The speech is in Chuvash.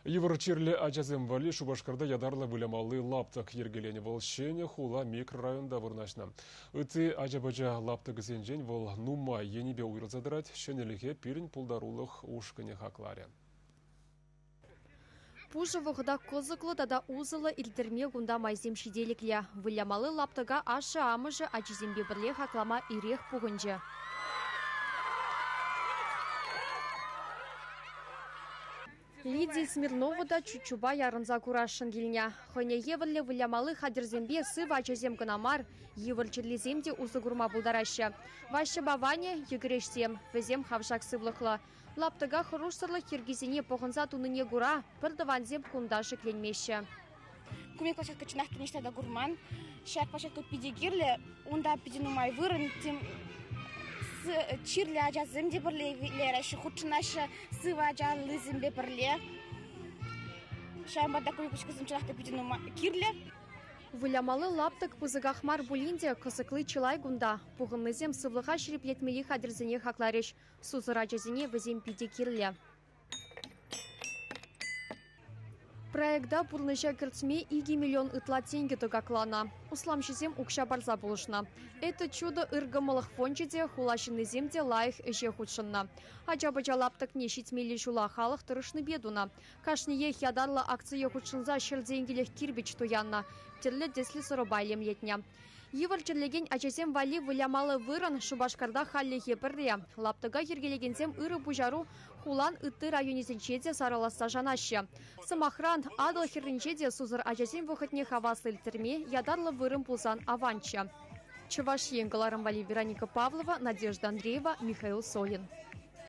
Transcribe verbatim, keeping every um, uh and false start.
Йывӑр чирлӗ ачасем валли Шупашкарта ятарлӑ вылямалли лаптӑк йӗркеленӗ. Вӑл Ҫӗнӗ хула микрорайонта вырнаҫнӑ. Ытти ача-пӑча лаптӑкӗсенчен вӑл нумай енӗпе уйрӑлса тӑрать. Ҫӗнӗлӗхе пирӗн пултарулӑх ушкӑнӗ хакларӗ. Пушӑ вӑхӑта кӑсӑклӑ тата усӑллӑ ирттерме кунта майсем ҫителӗклӗ. Вылямалли лаптӑка ашшӗ-амӑшӗ ачисемпе пӗрле хаклама ирех пухӑнчӗ. Лидия Смирнова та чуччупа ярӑнса курасшӑн килнӗ. Хӑйне евӗрлӗ вылямалли хатӗрсемпе сывӑ ачасем кӑна мар, йывӑр чирлисем те усӑ курма пултараҫҫӗ. Ваҫҫӑпа Ваня йӗкӗрешсем, вӗсем хавшак сывлӑхлӑ. Лаптӑка хӑрушсӑрлӑх йӗркисене пӑхӑнса тунине кура пӗр тӑвансем кунта шикленмеҫҫӗ. Ку пек площадка чӑнах та ниҫта та курман. Ҫак площадка питӗ кирлӗ, унта питӗ нумай вырӑн, тем чирлӗ ачасем те пӗрле выляҫҫӗ, хутшӑнаҫҫӗ сывӑ ачаллисемпе пӗрле. Ҫавӑнпа та ку площадкӑсем чӑнах та питӗ нумай кирлӗ. Вылямалли лаптӑк пысӑках мар пулин те кӑсӑкли чылай кунта. Пухӑннисем сывлӑха ҫирӗплетмелли хатӗрсене хакларӗҫ. Сусӑр ачасене вӗсем питӗ кирлӗ. Проекта пурнӑҫа кӗртме икӗ миллион ытла тенкӗ тӑкакланӑ. Усламҫӑсем укҫа парса пулӑшнӑ. Это чудо ыркӑмӑлӑх фончӗ те, хула ҫыннисем те лайӑх ӗҫе хутшӑннӑ. Ача-пӑча лаптӑкне ҫитмелли ҫула халӑх тӑрӑшнипе тунӑ. Кашниех ятарлӑ акцие хутшӑнса ҫӗр тенкӗлӗх кирпӗч туяннӑ. Тӗрлӗ тӗслӗ сӑрӑпа илемлетнӗ. Йывӑр чирлекен ачасем валли вылямалли вырӑн Шупашкарта хальлӗхе пӗрре. Лаптӑка йӗркелекенсем ырӑ пуҫару хулан ытти районӗсенче те сарӑласса шанаҫҫӗ. Сӑмахран, Атӑл хӗрринче те сусӑр ачасен вӑхӑтне хаваслӑ ирттерме ятарлӑ вырӑн пулсан аванччӗ. Чӑваш Ен кӑларӑм валли Вероника Павлова, Надежда Андреева, Михаил Солин.